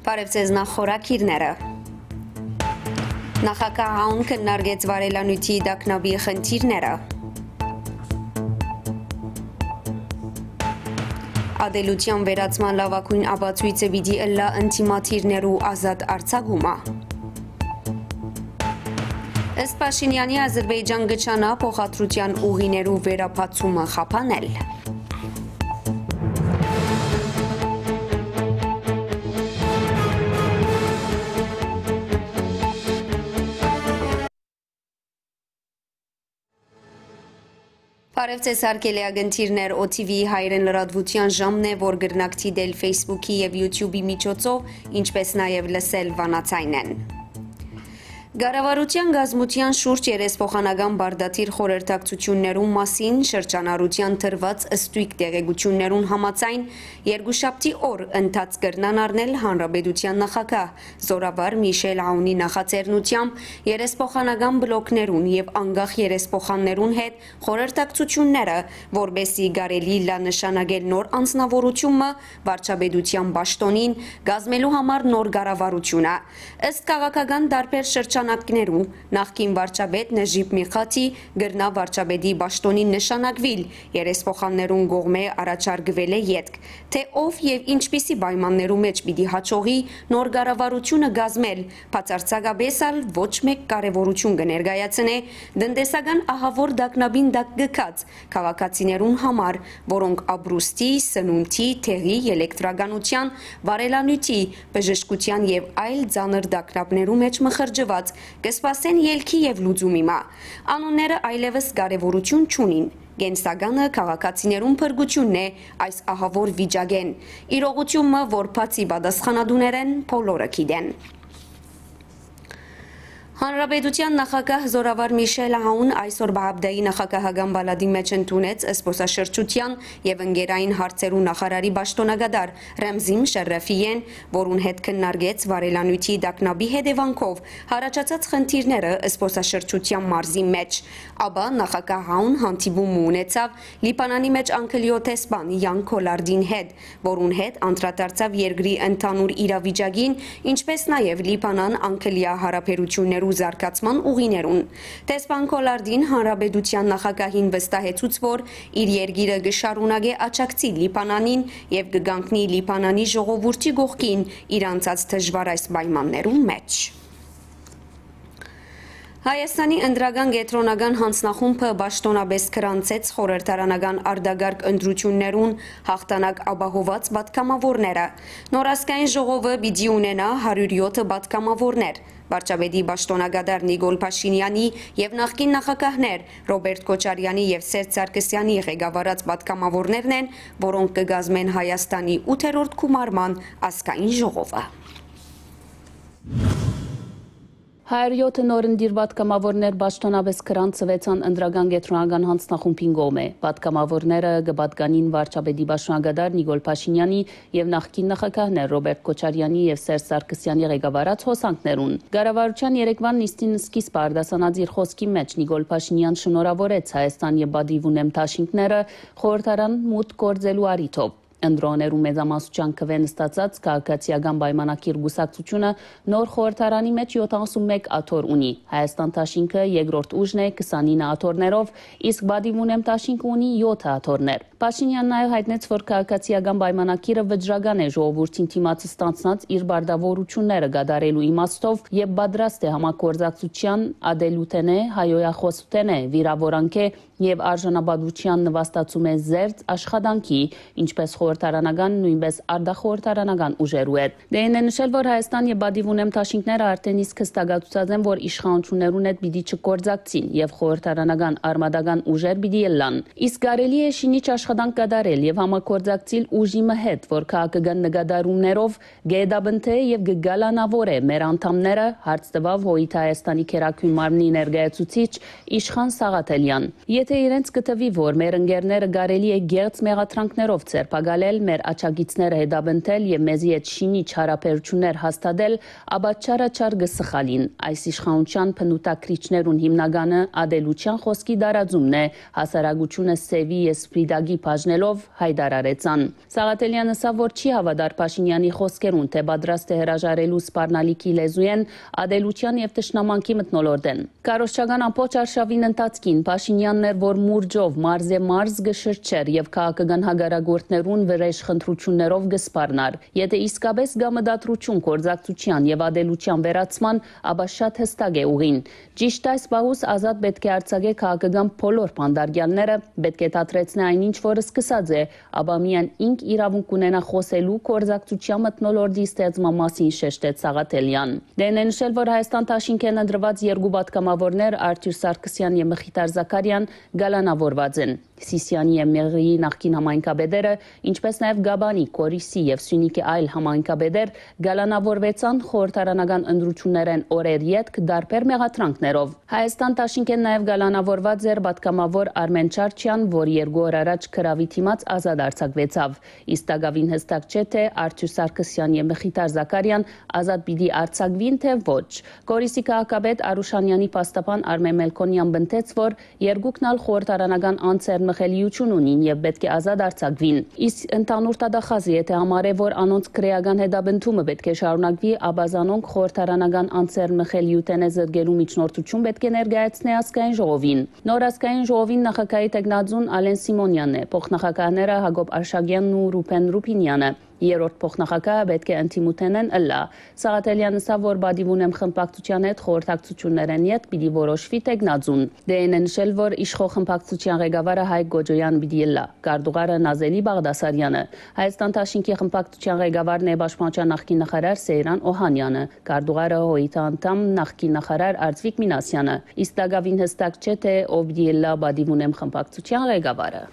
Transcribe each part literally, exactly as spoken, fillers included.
Բարեւ ձեզ, նախ խորագիրները։ Նախագահ Աուն քննարկեց վարելանիւթի տագնապի խնդիրները։ Ատելութեան վերացման լաւագոյն ապացոյցը պիտի ըլլայ ընդդիմադիրներու ազատ արձակումը։ Ըստ Փաշինեանի, Ազրպէյճան կը ջանայ փոխադրութեան ուղիներու վերաբացումը խափանել։ Բարեւ ձեզ, հարգելի ակնթիռներ, օ թի վի հայերեն լրատվութեան ժամն է, որ կրնաք դիտել Facebook-ի եւ YouTube-ի միջոցով, ինչպէս նաեւ լսել վանաձայնէն։ Կառավարութեան կազմութեան շուրջ երեսփոխանական պարտադիր խորհրդակցութիւններուն մասին շրջանառութեան տրուած ստոյգ տեղեկութիւններուն համաձայն, երկուշաբթի օր ընթացք կրնան առնել հանրապետութեան նախագահ զօրավար Միշել Աունի նախաձեռնութեամբ երեսփոխանական բլոկներուն եւ անկախ երեսփոխաններուն հետ խորհրդակցութիւնները, որպէսզի կարելի լայ նշանակել նոր անձնաւորութիւն մը վարչապետութեան պաշտօնին, կազմելու համար նոր կառավարութիւնը։ Ըստ քաղաքական տարբեր շրջանակներու, նախկին վարչապետ Նժիբ Միղաթի կրնայ վարչապետի պաշտօնին նշանակուիլ երեսփոխաններուն կողմէ առաջարկուելէ ետք, թէ ով եւ ինչպիսի պայմաններու մէջ պիտի յաջողի նոր կառավարութիւնը կազմել, բացարձակապէս ալ ոչ մէկ կարեւորութիւն կը ներկայացնէ տնտեսական ահաւոր տագնապին տակ գցած քաղաքացիներուն համար, որոնք ապրուստի, սնունդի, դեղի, ելեկտրականութեան, վարելանիւթի, բժշկութեան եւ այլ ծանր տագնապներու մէջ մխրճուած կը սպասեն ելքի եւ լուծումի մը։ Անունները այլեւս կարեւորութիւն չունին։ Կենսականը քաղաքացիներուն փրկութիւնն է այս ահաւոր վիճակէն, իրողութիւն մը, որ բացի պատասխանատուներէն, բոլորը գիտեն։ Հանրապետութեան նախագահ զօրավար Միշել Աուն այսօր Բահաբդայի նախագահական պալատի մէջ ընդունեց զբօսաշրջութեան եւ ընկերային հարցերու նախարարի պաշտօնակատար Ռեմզի Մուշարրաֆիին, որուն հետ քննարկեց վարելանիւթի տագնապի հետեւանքով յառաջացած խնդիրները զբօսաշրջութեան մարզի մէջ։ Ապա նախագահ Աուն հանդիպում մը ունեցաւ Լիբանանի մէջ Անգլիոյ դեսպան Յան Քոլարդին հետ, որուն հետ անդրադարձաւ երկրի ընդհանուր իրավիճակին, ինչպէս նաեւ Լիբանան-Անգլիա յարաբերութիւններու զարգացման ուղիներուն։ Դեսպան Քոլարդին հանրապետութեան նախագահին վստահեցուց, որ իր երկիրը կը շարունակէ աջակցիլ Լիբանանին եւ կը կանգնի Լիբանանի ժողովուրդի կողքին իր անցած դժուար այս պայմաններուն մէջ։ Հայաստանի ընտրական կեդրոնական յանձնախումբը պաշտօնապէս գրանցեց խորհրդարանական արտակարգ ընտրութիւններուն յաղթանակ ապահոված պատգամաւորները։ Նոր ազգային ժողովը պիտի ունենայ հարիւր եօթը պատգամաւորներ։ Վարչապետի պաշտօնակատար Նիկոլ Փաշինեանի եւ նախկին նախագահներ Ռոբերտ Քոչարեանի եւ Սերժ Սարգսեանի ղեկավարած պատգամաւորներն են, որոնք կը կազմեն Հայաստանի ութերորդ գումարման ազգային ժողովը։ Հարիւր եօթը նորընտիր պատգամաւորներ պաշտօնապէս գրանցուեցան ընտրական կեդրոնական յանձնախումբին կողմէ։ Պատգամաւորները կը պատկանին վարչապետի պաշտօնակատար Նիկոլ Փաշինեանի եւ նախկին նախագահներ Ռոբերտ Քոչարեանի եւ Սերժ Սարգսեանի ղեկավարած հոսանքներուն։ Կառավարութեան երեկվան նիստին սկիզբը արտասանած իր խօսքի մէջ Նիկոլ Փաշինեան շնորհաւորեց Հայաստան եւ Պատիւ ունեմ դաշինքները խորհրդարան մուտք գործելու առիթով։ Ընտրողներու մեծամասնութեան քուէն ստացած Քաղաքացիական պայմանագիր կուսակցութիւնը նոր խորհրդարանի մէջ յոթանասունմեկ աթոռ ունի։ Հայաստան դաշինքը երկրորդ ուժն է քսանինը աթոռներով, իսկ Պատիվ ունեմ դաշինքը ունի եօթը աթոռներ։ Փաշինեան նաեւ յայտնեց, որ Քաղաքացիական պայմանագիրը վճռական է ժողովուրդին դիմաց ստանձնած իր պարտաւորութիւնները կատարելու իմաստով եւ պատրաստ է համագործակցութեան, ատելութենէ, հայոյախօսութենէ, վիրաւորանքէ եւ արժանապատուութեան նուաստացում է զերծ աշխատանքի, ինչպէս խորհրդարանական, նոյնպէս արտախորհրդարանական ուժերու հետ։ Դեհին է նշել, որ Հայաստան եւ Պատիվ ունեմ դաշինքները արդէն իսկ հստակացուցած են, որ իշխանություններուն հետ պիտի չգործակցին եւ խորհրդարանական արմատական ուժեր պիտի ըլլան։ Իսկ կարելի է շինիչ աշխատանք կատարել եւ համագործակցիլ ուժի մը հետ, որ քաղաքական նկատառումներով կհետապնդէ եւ կը գալանաւորէ մեր անդամները, հարց տուաւ Յոյիթ Հայաստանի գերագոյն մարմնի ներկայացուցիչ Իշխան Սաղաթելեան։ Եթէ իրենց կը թուի, որ մեր ընկերները կարելի է գեղձ մեղադրանքներով ձերբակալ ալել, մեր աջակիցները հետապնդել եւ մեզի հետ շինիչ յարաբերութիւններ հաստատել, ապա չարաչար կը սխալին։ Այս իշխանութեան բնութագրիչներուն հիմնականը ատելութեան խօսքի տարածումն է, հասարակութիւնը սեւի եւ սպիտակի բաժնելով, յայտարարեց ան։ Սաղաթելեան ըսաւ, որ չի հաւատար Փաշինեանի խօսքերուն, թէ պատրաստ է հրաժարելու սպառնալիքի լեզուէն, ատելութեան եւ թշնամանքի մթնոլորտէն։ Քարոզչական ամբողջ արշաւին ընթացքին Փաշինեանն էր, որ մուրճով մարզէ մարզ կը շրջէր եւ քաղաքական հակառակորդներուն վրէժ խնդրութիւններով կը սպառնար։ Եթէ իսկապէս կայ մտադրութիւն գործակցութեան եւ ատելութեան վերացման, ապա շատ յստակ է ուղին։ Ճիշդ այս պահուս Ազատ պէտք է արձակէ քաղաքական բոլոր բանտարկեալները, պէտք է դադրեցնէ այն ինչ որ սկսած է, ապա միայն ինք իրաւունք կունենայ խօսելու գործակցութեան մթնոլորտի ստեղծման մասին, շեշտեց Սաղաթելեան։ Դեն է նշել, որ Հայաստան Դաշինքէն ընտրուած երկու պատգամաւորներ՝ Արթուր Սարգսեան եւ Մխիթար Զաքարեան, կալանաւորուած են։ Սիսիանի եւ Մեղրիի նախկին համայնքապետերը, ինչպէս նաեւ Գաբանի, Կորիսի եւ Սիւնիքի այլ համայնքապետեր կալանաւորուեցան խորհրդարանական ընտրութիւններէն օրեր ետք տարբեր մեղադրանքներով։ Հայաստան Դաշինքէն նաեւ կալանաւորուած էր պատգամաւոր Արմէն Չարչեան, որ երկու օր առաջ գրաւի դիմաց ազատ արձակուեցաւ։ Իսկ տակաւին յստակ չէ, թէ Արթուր Սարգսեան եւ Մխիթար Զաքարեան ազատ պիտի արձակուին, թէ ոչ։ Կորիսի քաղաքապետ Արուշանեանի փաստաբան Արմէն Մելքոնեան պնդեց, որ երկուքն ալ խորհրդարանական անձեռնմխելիութիւն ունին եւ պէտք է ազատ արձակուին։ Իսկ ընդհանուր դատախազը եթէ համարէ, որ անոնց քրէական հետապնդումը պէտք է շարունակուի, ապա զանոնք խորհրդարանական անձեռնմխելիութենէ զրկելու միջնորդութիւն պէտք է ներկայացնէ ազգային ժողովին։ Նոր ազգային ժողովին նախագահի թեկնածուն Ալեն Սիմոնեանն է, փոխնախագահները Յակոբ Արշակեանն ու Ռուբեն Ռուբինեանը։ Երրորդ փոխնախագահը պէտք է ընդդիմութենէն ըլլայ։ Սաղաթելեան ըսաւ, որ պատիւ ունեմ խմբակցութեան հետ խորհրդակցութիւններէն ետք պիտի որոշուի թեկնածուն։ Դե են նշել, որ իշխող խմբակցութեան ղեկավարը Հայկ Գոջոեան պիտի ըլլայ, քարտուղարը Նազելի Բաղդասարեանը։ Հայաստան Դաշինքի խմբակցութեան ղեկավարն է պաշտպանության նախկին նախարար Սեյրան Օհանեանը, քարտուղարը Հոյիթ անդամ նախկին նախարար Արծուիկ Մինասեանը։ Իսկ տակաւին յստակ չէ, թէ ով պիտի ըլլայ պատիվ ունեմ խմբակցութեան ղեկավարը։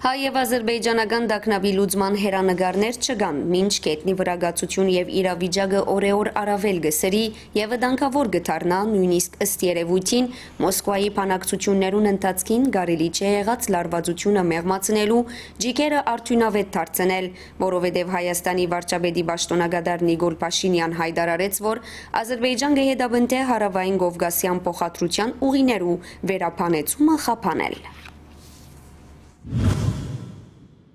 Հայ եւ ազրպէյճանական տագնապի լուծման հեռանկարներ չկան, մինչ գետնի վրա կացութիւն եւ իրավիճակը օրեօր առավել կը սրի եւ վտանգաւոր կը դառնայ, նոյնիսկ ըստ երեւոյթին, Մոսկուայի բանակցութիւններուն ընթացքին կարելի չէ եղած լարուածութիւնը մեղմացնելու ջիքերը արդիւնաւետ դարձնել, որովհետեւ Հայաստանի վարչապետի պաշտօնակատար Նիկոլ Փաշինեան յայտարարեց, որ Ազրպէյճան կը հետապնդէ Հարաւային Կովկասեան փոխադրութեան ուղիներու վերաբանեցումը խափանել։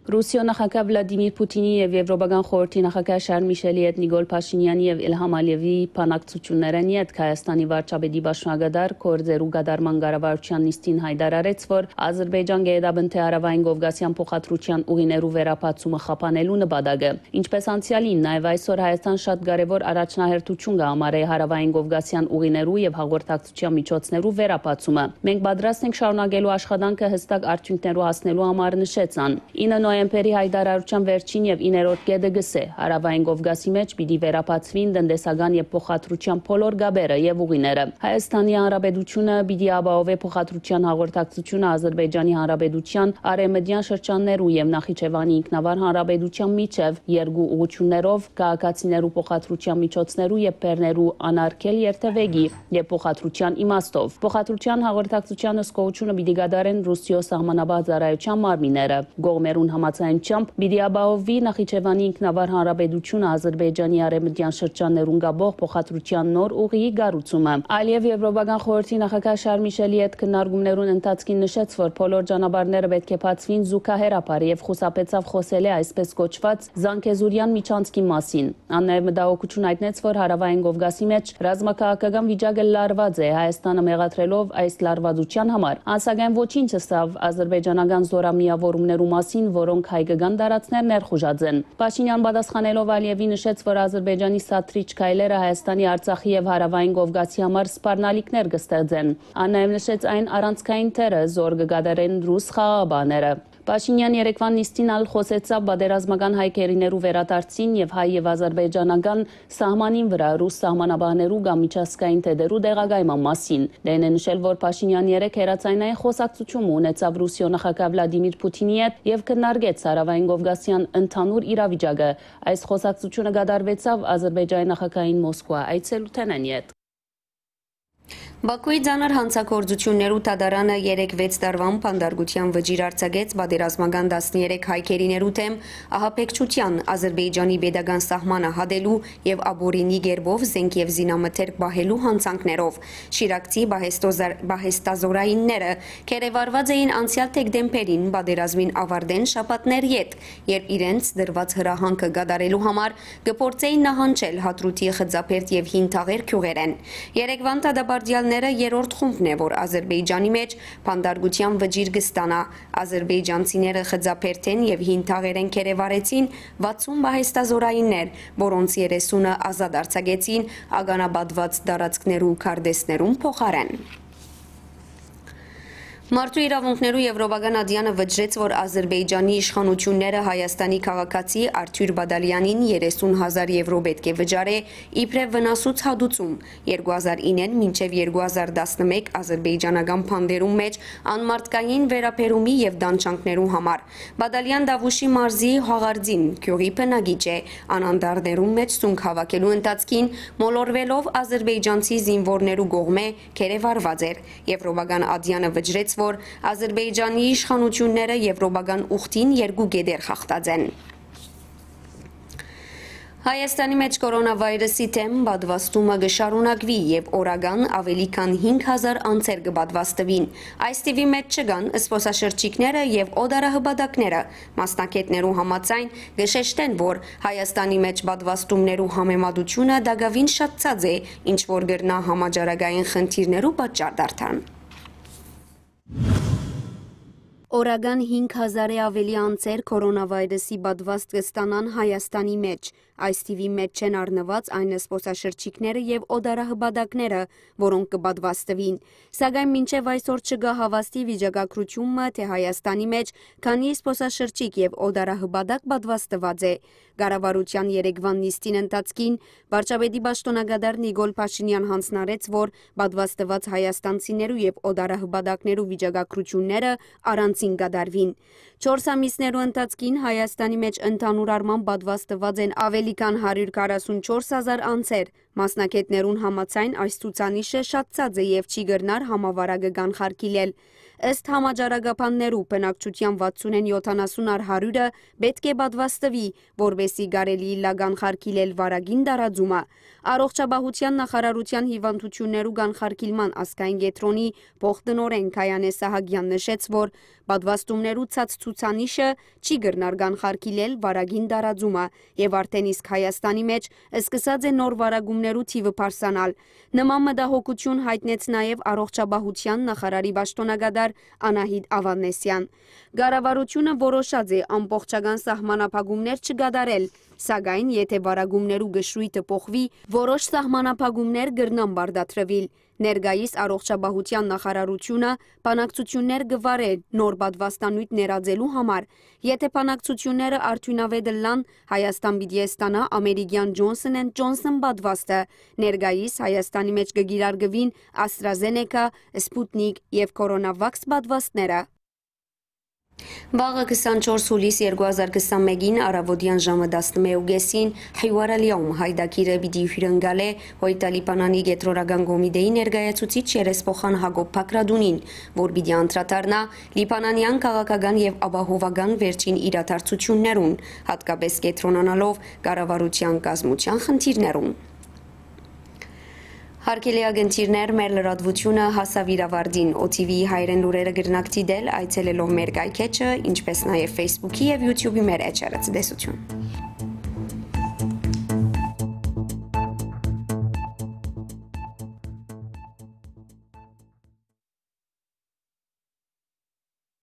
Ռուսիոյ նախագահ Վլադիմիր Պութինի եւ Եվրոպական խորհրդի նախագահ Շարլ Միշելի հետ Նիկոլ Փաշինեանի եւ Իլհամ Ալիեւի բանակցութիւններէն ետք Հայաստանի վարչապետի պաշտոնակատար գործերու կատարման կառավարութեան նիստին յայտարարեց, որ Ազրպէյճան կը հետապնդէ Հարաւային Կովկասեան փոխադրութեան ուղիներու վերաբացումը խափանելու նպատակը։ Ինչպէս անցեալին, նաեւ այսօր Հայաստան շատ կարեւոր առաջնահերթութիւն կը համարէ Հարաւային Կովկասեան ուղիներու եւ հաղորդակցութեան միջոցներու վերաբացումը։ Մենք պատրաստ ենք շարունակելու աշխատանքը յստակ արդիւնքներու հասնելու համար, նշեց ան։ Ինը նոյեմբերի յայտարարութեան վերջին եւ իներորդ կետը կ'ըսէ. Հարաւային Կովկասի մէջ պիտի վերաբացուին տնտեսական եւ փոխադրութեան բոլոր կապերը եւ ուղիները։ Հայաստանի Հանրապետությունը պիտի ապահովէ փոխադրութեան հաղորդակցությունը Ազրպէյճանի Հանրապետութեան արեւմտեան շրջաններու եւ Նախիջեւանի ինքնավար հանրապետութեան միջեւ երկու ուղղութիւններով, քաղաքացիներու փոխադրութեան միջոցներու եւ բեռներու անարգել երթեւեկի եւ փոխադրութեան իմաստով։ Փոխադրութեան հաղորդակցութեան հսկողութիւնը պիտի կատարեն Ռուսիոյ սահմանապահ ծառայութեան մարմինները։ Կողմերուն համաձայնությամբ պիտի ապահովուի Նախիջեվանի ինքնավար հանրապետությունը Ազրպէյճանի արեւմտեան շրջաններուն կապող փոխադրութեան նոր ուղիի կառուցումը։ Ալիեւ Եվրոպական խորհրդի նախագահ Շարլ Միշելի հետ քննարկումներուն ընթացքին նշեց, որ բոլոր ճանապարհները պէտք է բացուին զուգահեռաբար եւ խուսափեցաւ խօսելէ այսպես կոչուած Զանգեզուրեան միջանցքի մասին։ Ան նաեւ մտահոգութիւն յայտնեց, որ Հարաւային Կովկասի մէջ ռազմաքաղաքական վիճակը լարուած է, Հայաստանը մեղադրելով այս լարվածութեան համար։ Ան սակայն ոչինչ ըսաւ ազրպէյճանական զօրամիաւորումներու մասին, որոնք հայկական տարածքներ ներխուժած են։ Փաշինեան պատասխանելով Ալիեւի նշեց, որ Ազրպէյճանի սադրիչ քայլերը Հայաստանի, Արցախի եւ Հարաւային Կովկասի համար սպառնալիքներ կը ստեղծեն։ Ան նաեւ նշեց այն առանցքային դերը, զոր կը կատարեն ռուս խաղաղապահները։ Փաշինեան երեկվան նիստին ալ խօսեցաւ պատերազմական հայ գերիներու վերադարձին եւ հայ եւ ազրպէյճանական սահմանին վրայ ռուս սահմանապահներու կամ միջազգային դերերու տեղակայման մասին։ Դեն է նշել, որ Փաշինեան երեկ հեռաձայնային խօսակցութիւն մը ունեցաւ Ռուսիոյ նախագահ Վլադիմիր Պութինի հետ եւ քննարկեց Հարաւային Կովկասեան ընդհանուր իրավիճակը։ Այս խօսակցութիւնը կատարուեցաւ Ազրպէյճանի նախագահին Մոսկուա այցելութենէն ետք։ Բաքուի ծանր հանցագործութիւններու դատարանը երեկ վեց տարուան բանտարկութեան վճիռ արձակեց պատերազմական տասներեք հայ գերիներու դէմ ահաբեկչութեան, Ազրպէյճանի պետական սահմանը հատելու եւ ապօրինի կերպով զենք եւ զինամթերք պահելու հանցանքներով։ Շիրակցի պահեստոզար-, պահեստազօրայինները կերեւարուած էին անցեալ դեկտեմբերին պատերազմին աւարտէն շաբաթներ յետ, երբ իրենց տրուած հրահանգը կատարելու համար կը փորձէին նահանջել Հատրութի Խծաբերդ եւ Հին Թաղեր գիւղերէն։ Երեգուան դատապարտեալները երրորդ խումբն է, որ Ազրպէյճանի մէջ բանտարկութեան վճիռ կը ստանայ։ Ազրպէյճանցիները Խծաբերդէն եւ Հին Թաղերէն կերեւարեցին վաթսուն պահեստազօրայիններ, որոնց երեսունը ազատ արձակեցին ականապատուած տարածքներու քարտէսներուն փոխարէն։ Մարդու իրաւունքներու Եվրոպական ատեանը վճռեց, որ Ազրպէյճանի իշխանութիւնները Հայաստանի քաղաքացի Արթուր Բադալեանին երեսուն հազար եվրո պէտք է վճարէ իբրեւ վնասուց հատուցում երկու հազար ինեն մինչեւ երկու հազար տասնմէկ ազրպէյճանական բանտերուն մէջ անմարդկային վերաբերումի եւ տանջանքներու համար։ Բադալեան Տավուշի մարզի Հաղարձին գիւղի բնակիչ է։ Ան անտառներուն մէջ սունկ հաւաքելու ընթացքին մոլորուելով ազրպէյճանցի զինուորներու կողմէ կերեւարուած էր։ Եվրոպական ատեանը վճռեց, որ Ազրպէյճանի իշխանութիւնները եվրոպական ուխտին երկու կետեր խախտած են։ Հայաստանի մէջ կորոնավայրուսի դէմ պատվաստումը կը շարունակուի եւ օրական աւելի քան հինգ հազար անձեր կը պատվաստուին։ Այս թիւի մէջ չկան զբօսաշրջիկները եւ օտարահպատակները։ Մասնագէտներու համաձայն կը շեշտեն, որ Հայաստանի մէջ պատվաստումներու համեմատութիւնը տակաւին շատցած է, ինչ որ կրնայ համաճարակային խնդիրներու պատճառ դառնալ։ Օրական հինգ հազարէ աւելի անձեր կորոնավայրուսի պատվաստ կը ստանան Հայաստանի մէջ։ Այս թիւի մէջ չեն առնուած այն զբօսաշրջիկները եւ օտարահպատակները, որոնք կը պատվաստուին։ Սակայն մինչեւ այսօր չկայ հաւաստի վիճակագրութիւն մը, թէ Հայաստանի մէջ քանի զբօսաշրջիկ եւ օտարահպատակ պատվաստուած է։ Կառավարութեան երեկվան նիստին ընթացքին վարչապետի պաշտօնակատար Նիկոլ Փաշինեան յանձնարարեց, որ պատվաստուած հայաստանցիներու եւ օտարահպատակներու վիճակագրութիւնները առանձին կատարուին։ Չորս ամիսներու ընթացքին Հայաստանի մէջ ընդհանուր առմամբ պատվաստուած են աւելի քան հարիւր քառասուն չորս հազար անձեր։ Մասնագէտներուն համաձայն այս ցուցանիշը շատցած է եւ չի կրնար համավարակը կանխարգիլել։ Ըստ համաճարակաբաններու, բնակչութեան վաթսունէն յոթանասուն առ հարիւրը պէտք է պատվաստուի, որպէսզի կարելի ըլլայ կանխարգիլել վարակին տարածումը։ Առողջապահութեան նախարարութեան հիւանդութիւններու կանխարգիլման ազգային կեդրոնի փոխտնօրէն Գայանէ Սահակեան նշեց, որ պատվաստումներու ցած ցուցանիշը չի կրնար կանխարգիլել վարակին տարածումը եւ արդէն իսկ Հայաստանի մէջ սկսած է նոր վարակումներու թիւը բարձրանալ։ Նման մտահոգութիւն յայտնեց նաեւ առողջապահութեան նախարարի պաշտօնակատար Անահիտ Ավանեսեան։ Կառավարութիւնը որոշած է ամբողջական սահմանափակումներ չկատարել, սակայն եթէ վարակումներու կշռոյթը փոխուի, որոշ սահմանափակումներ կրնան պարտադրուիլ։ Ներկայիս առողջապահութեան նախարարութիւնը բանակցութիւններ կը վարէ նոր պատվաստանիւթ ներածելու համար։ Եթէ բանակցութիւնները արդիւնաւէտ ըլլան, Հայաստան պիտի ստանայ ամերիկեան Johnson and Johnson պատվաստը։ Ներկայիս Հայաստանի մէջ կը կիրարկուին AstraZeneca, Sputnik եւ Coronavax պատվաստները։ Վաղը քսանչորս հուլիս երկու հազար քսանմէկին առաւօտեան ժամը տասնմէկ ու կեսին Հիուար Ալ Յաում յայտագիրը պիտի հիւրընկալէ Հոյտա Լիբանանի կեդրոնական կոմիտեի ներկայացուցիչ երեսփոխան Հակոբ Բագրատունին, որ պիտի անդրադառնայ լիբանանեան քաղաքական եւ ապահովական վերջին իրադարձութիւններուն, յատկապէս կեդրոնանալով կառավարութեան կազմութեան խնդիրներուն։ Հարգելի ագնտիրներ, մեր լրատվութիւնը հասաւ իր աւարտին։ O T V հայերեն լուրերը կրնաք դիտել այցելելով մեր կայքէջը, ինչպէս նաեւ Facebook-ի եւ YouTube-ի մեր էջերը։ Ցտեսութիւն։